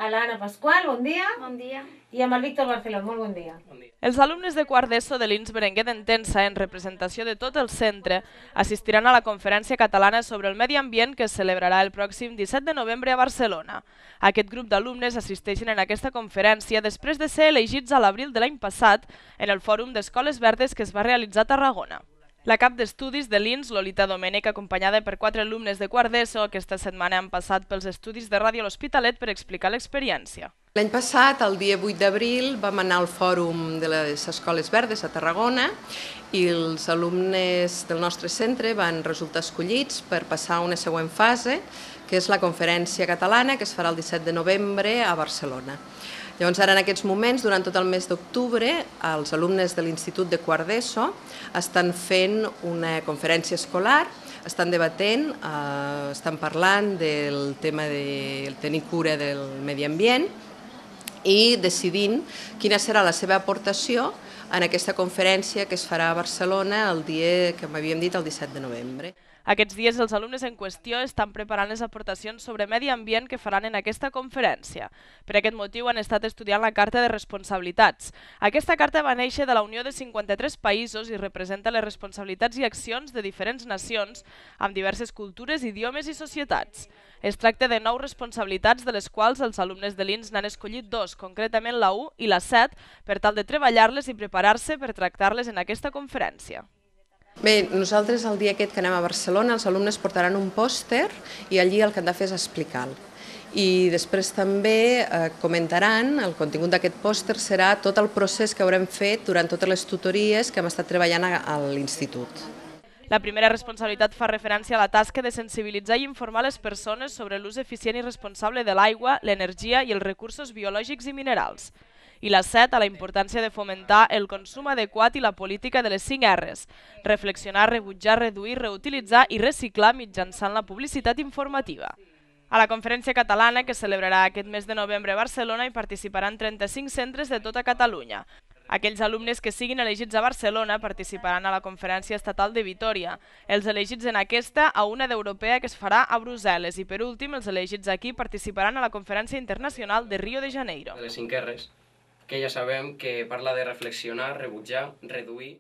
l'Anna Pasqual, bon dia. Bon dia. I amb el Víctor Barceló, molt bon dia. Els alumnes de quart d'ESO de l'INS Berenguer d'Entença, en representació de tot el centre, assistiran a la Conferència Catalana sobre el Medi Ambient que es celebrarà el pròxim 17 de novembre a Barcelona. Aquest grup d'alumnes assisteixen en aquesta conferència després de ser elegits a l'abril de l'any passat en el Fòrum d'Escoles Verdes que es va realitzar a Tarragona. La cap d'estudis de l'INS, Lolita Domènech, acompanyada per 4 alumnes de quart d'ESO, aquesta setmana han passat pels estudis de Ràdio L'Hospitalet per explicar l'experiència. L'any passat, el dia 8 d'abril, vam anar al Fòrum de les Escoles Verdes a Tarragona i els alumnes del nostre centre van resultar escollits per passar a una següent fase, que és la Conferència Catalana, que es farà el 17 de novembre a Barcelona. Llavors, ara en aquests moments, durant tot el mes d'octubre, els alumnes de l'Institut de Quart d'ESO estan fent una conferència escolar, estan debatent, estan parlant del tema de tenir cura del medi ambient i decidint quina serà la seva aportació en aquesta conferència que es farà a Barcelona el dia que m'havíem dit, el 17 de novembre. Aquests dies els alumnes en qüestió estan preparant les aportacions sobre medi ambient que faran en aquesta conferència. Per aquest motiu han estat estudiant la Carta de Responsabilitats. Aquesta carta va néixer de la unió de 53 països i representa les responsabilitats i accions de diferents nacions amb diverses cultures, idiomes i societats. Es tracta de 9 responsabilitats, de les quals els alumnes de l'INS n'han escollit 2, concretament la 1 i la 7, per tal de treballar-les i preparar-se per tractar-les en aquesta conferència. Bé, nosaltres el dia aquest que anem a Barcelona els alumnes portaran un pòster i allí el que han de fer és explicar-lo. I després també comentaran, el contingut d'aquest pòster serà tot el procés que haurem fet durant totes les tutories que hem estat treballant a l'institut. La primera responsabilitat fa referència a la tasca de sensibilitzar i informar les persones sobre l'ús eficient i responsable de l'aigua, l'energia i els recursos biològics i minerals. I la 7, a la importància de fomentar el consum adequat i la política de les 5 R's, reflexionar, rebutjar, reduir, reutilitzar i reciclar mitjançant la publicitat informativa. A la Conferència Catalana, que celebrarà aquest mes de novembre a Barcelona, hi participaran 35 centres de tota Catalunya. Aquells alumnes que siguin elegits a Barcelona participaran a la Conferència Estatal de Vitòria, els elegits en aquesta a una d'europea que es farà a Brussel·les i per últim els elegits aquí participaran a la Conferència Internacional de Rio de Janeiro. De les 5 R's, que ja sabem que parla de reflexionar, rebutjar, reduir...